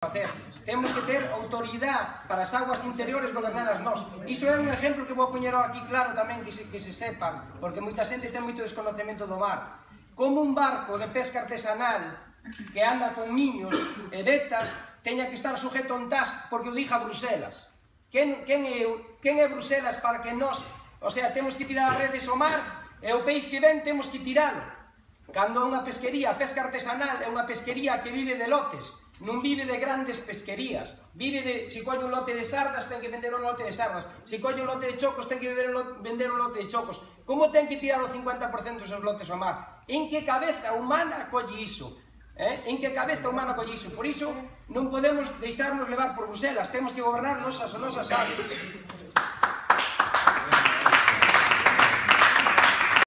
facer. Temos que ter autoridade para as aguas interiores gobernadas nós. Iso é un exemplo que vou poñer aquí claro tamén que se sepan, porque moita xente ten moito desconocemento do mar. Como un barco de pesca artesanal que anda con niños e vetas teña que estar sujeto a un TASC porque o diga Bruselas. Quen é Bruselas para que nós, o sea, temos que tirar as redes ao mar e o peixe que ven temos que tiralo? Cando unha pesquería, a pesca artesanal é unha pesquería que vive de lotes, non vive de grandes pesquerías, vive de, se colle un lote de sardas, ten que vender un lote de sardas, se colle un lote de chocos, ten que vender un lote de chocos. Como ten que tirar o 50% dos seus lotes ao mar? En que cabeza humana colle iso? En que cabeza humana colle iso? Por iso non podemos deixarnos levar por Bruselas, temos que gobernar as nosas aguas.